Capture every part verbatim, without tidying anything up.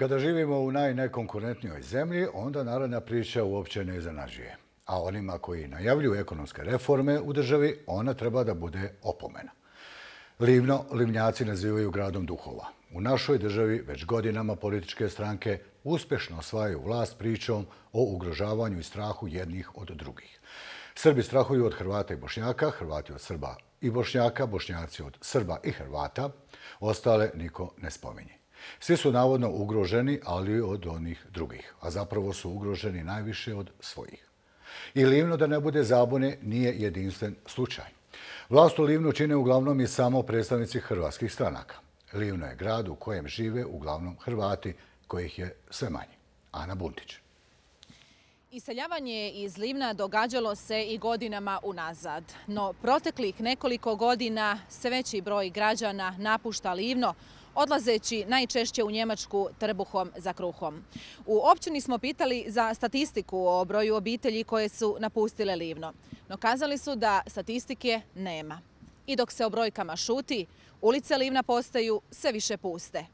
Kada živimo u najnekonkurentnijoj zemlji, onda narodna priča uopće ne iznenađuje. A onima koji najavljuju ekonomske reforme u državi, ona treba da bude opomena. Livno Livnjaci nazivaju gradom duhova. U našoj državi već godinama političke stranke uspješno osvajaju vlast pričom o ugrožavanju i strahu jednih od drugih. Srbi strahuju od Hrvata i Bošnjaka, Hrvati od Srba i Bošnjaka, Bošnjaci od Srba i Hrvata, ostale niko ne spominje. Svi su navodno ugroženi, ali od onih drugih, a zapravo su ugroženi najviše od svojih. I Livno, da ne bude zabune, nije jedinstven slučaj. Vlast u Livnu čine uglavnom i samo predstavnici hrvatskih stranaka. Livno je grad u kojem žive uglavnom Hrvati, kojih je sve manje. Ana Buntić. Iseljavanje iz Livna događalo se i godinama unazad, no proteklih nekoliko godina sve veći broj građana napušta Livno, odlazeći najčešće u Njemačku trbuhom za kruhom. U općini smo pitali za statistiku o broju obitelji koje su napustile Livno, no kazali su da statistike nema. I dok se o brojkama šuti, ulice Livna postaju sve više puste.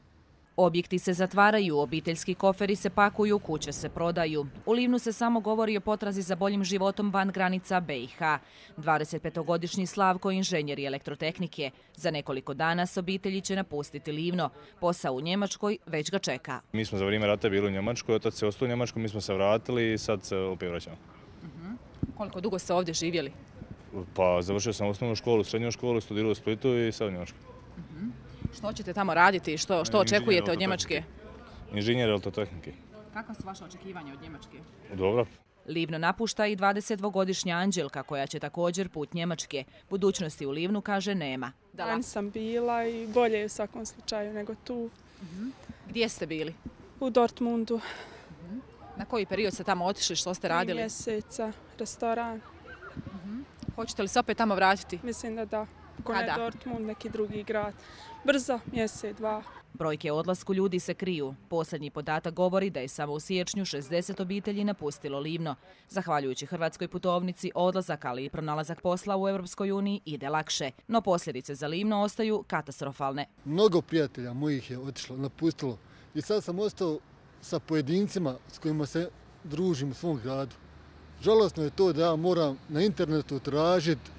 Objekti se zatvaraju, obiteljski koferi se pakuju, kuće se prodaju. U Livnu se samo govori o potrazi za boljim životom van granica be i ha. dvadesetpetogodišnji Slavko, inženjer elektrotehnike. Za nekoliko dana s obitelji će napustiti Livno. Posao u Njemačkoj već ga čeka. Mi smo za vrijeme rata bili u Njemačkoj, otac se ostao u Njemačkoj, mi smo se vratili i sad se opet vraćamo. Uh-huh. Koliko dugo ste ovdje živjeli? Pa završio sam osnovnu školu, srednju školu, studirao u Splitu i sad u Njemačkoj. Uh-huh. Što ćete tamo raditi? Što, što očekujete od Njemačke? Inženjer elektrotehnike. Kakva su vaše očekivanja od Njemačke? Dobro. Livno napušta i dvadesetdvogodišnja Anđelka, koja će također put Njemačke. Budućnosti u Livnu, kaže, nema. Lani sam bila i bolje je u svakom slučaju nego tu. Uh-huh. Gdje ste bili? U Dortmundu. Uh-huh. Na koji period ste tamo otišli? Što ste radili? Tri mjeseca, restoran. Uh-huh. Hoćete li se opet tamo vratiti? Mislim da da. Ako ne Dortmund, neki drugi grad. Brzo, mjesec, dva. Brojke o odlasku ljudi se kriju. Posljednji podatak govori da je samo u siječnju šezdeset obitelji napustilo Livno. Zahvaljujući hrvatskoj putovnici, odlazak, ali i pronalazak posla u Europskoj uniji ide lakše. No posljedice za Livno ostaju katastrofalne. Mnogo prijatelja mojih je otišlo, napustilo. I sad sam ostao sa pojedincima s kojima se družim u svom gradu. Žalosno je to da ja moram na internetu tražiti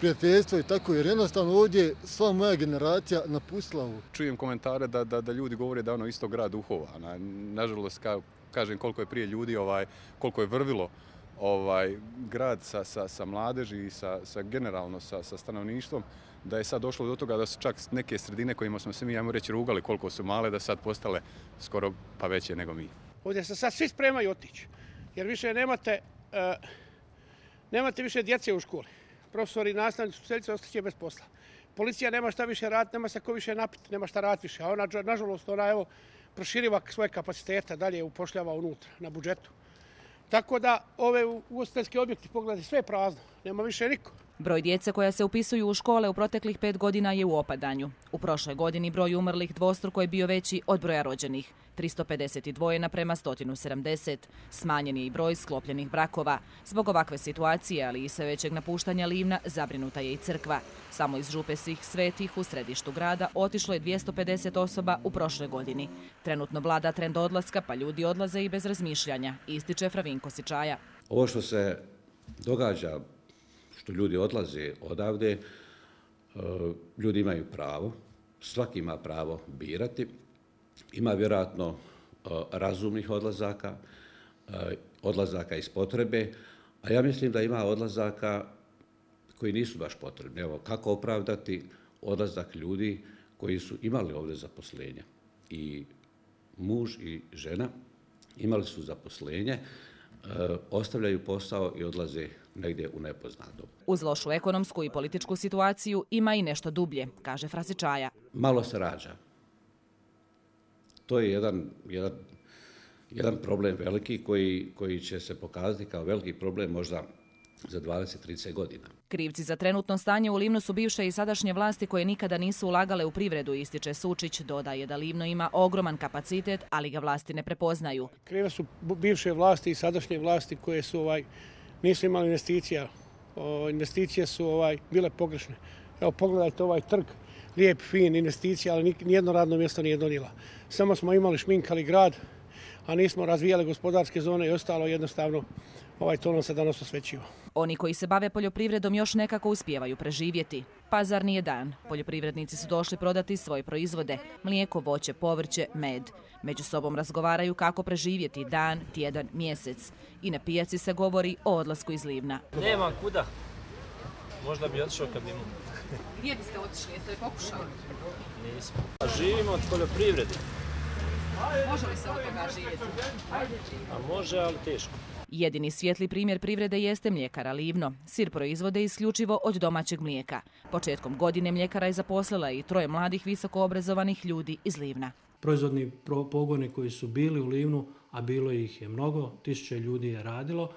prijateljstvo i tako, jer jednostavno ovdje sva moja generacija napustila ovo. Čujem komentare da, da, da ljudi govore da je ono isto grad duhova. Na, nažalost, ka, kažem koliko je prije ljudi, ovaj, koliko je vrvilo ovaj, grad sa, sa, sa mladeži i sa, sa generalno sa, sa stanovništvom, da je sad došlo do toga da su čak neke sredine kojima smo se mi, ajmo reći, rugali koliko su male, da sad postale skoro pa veće nego mi. Ovdje se sad svi spremaju otići, jer više nemate, uh, nemate više djece u školi. Profesori i nastavnici u Seljice ostaće bez posla. Policija nema šta više raditi, nema se ko više napiti, nema šta raditi više. A ona, nažalost, ona evo, proširiva svoje kapacitete, dalje upošljava unutra, na budžetu. Tako da ove ugostiteljski objekti, pogledajte, sve je prazno, nema više niko. Broj djece koja se upisuju u škole u proteklih pet godina je u opadanju. U prošloj godini broj umrlih dvostruko je bio veći od broja rođenih. tristo pedeset dva naprema sto sedamdeset. Smanjen je i broj sklopljenih brakova. Zbog ovakve situacije, ali i sve većeg napuštanja Livna, zabrinuta je i crkva. Samo iz župe Svih svetih u središtu grada otišlo je dvjesto pedeset osoba u prošloj godini. Trenutno vlada trend odlaska, pa ljudi odlaze i bez razmišljanja, ističe Fravinko Sičaja. Ovo što se događa, što ljudi odlaze odavde, ljudi imaju pravo, svaki ima pravo birati. Ima vjerojatno razumnih odlazaka, odlazaka iz potrebe, a ja mislim da ima odlazaka koji nisu baš potrebni. Evo, kako opravdati odlazak ljudi koji su imali ovdje zaposlenje? I muž i žena imali su zaposlenje, ostavljaju posao i odlaze negdje u nepoznato. Uz lošu ekonomsku i političku situaciju ima i nešto dublje, kaže Frasičaja. Malo se rađa. To je jedan, jedan, jedan problem veliki koji, koji će se pokazati kao veliki problem možda za dvadeset do trideset godina. Krivci za trenutno stanje u Livnu su bivše i sadašnje vlasti koje nikada nisu ulagale u privredu, ističe Sučić. Dodaje da Livno ima ogroman kapacitet, ali ga vlasti ne prepoznaju. Krive su bivše vlasti i sadašnje vlasti koje su ovaj, nisu imali investicija. O, investicije su ovaj, bile pogrešne. Evo pogledajte ovaj trg. lijep, fin, investicija, ali nijedno radno mjesto nije donijela. Samo smo imali šminkali grad, a nismo razvijali gospodarske zone i ostalo jednostavno ovaj to nam se danas osvećiva. Oni koji se bave poljoprivredom još nekako uspijevaju preživjeti. Pazar nije dan. Poljoprivrednici su došli prodati svoje proizvode, mlijeko, voće, povrće, med. Među sobom razgovaraju kako preživjeti dan, tjedan, mjesec. I na pijaci se govori o odlasku iz Livna. Nema kuda. Možda bi otišao kad bi imao. Gdje biste otišli? Jeste li pokušali? Nismo. Živimo od poljoprivrede. Može li se od toga živjeti? A može, ali teško. Jedini svijetli primjer privrede jeste mljekara Livno. Sir proizvode isključivo od domaćeg mlijeka. Početkom godine mljekara je zaposlila i troje mladih visoko obrazovanih ljudi iz Livna. Proizvodni pogoni koji su bili u Livnu, a bilo ih je mnogo, tisuće ljudi je radilo,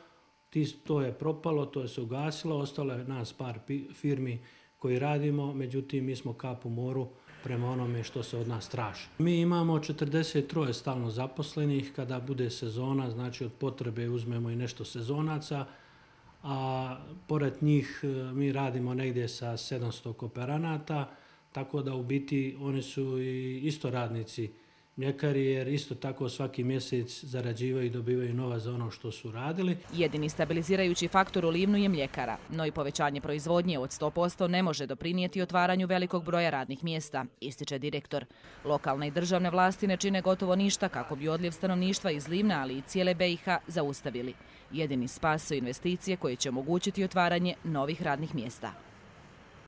to je propalo, to je se ugasilo, ostalo je nas par firmi koji radimo, međutim mi smo kap u moru prema onome što se od nas traži. Mi imamo četrdeset tri stalno zaposlenih, kada bude sezona, znači od potrebe uzmemo i nešto sezonaca, a pored njih mi radimo negdje sa sedamsto kooperanata, tako da u biti oni su i isto radnici mljekari, jer isto tako svaki mjesec zarađivaju i dobivaju nova za ono što su radili. Jedini stabilizirajući faktor u Livnu je mljekara, no i povećanje proizvodnje od sto posto ne može doprinijeti otvaranju velikog broja radnih mjesta, ističe direktor. Lokalne i državne vlasti ne čine gotovo ništa kako bi odljev stanovništva iz Livna, ali i cijele B i H zaustavili. Jedini spas su investicije koje će omogućiti otvaranje novih radnih mjesta.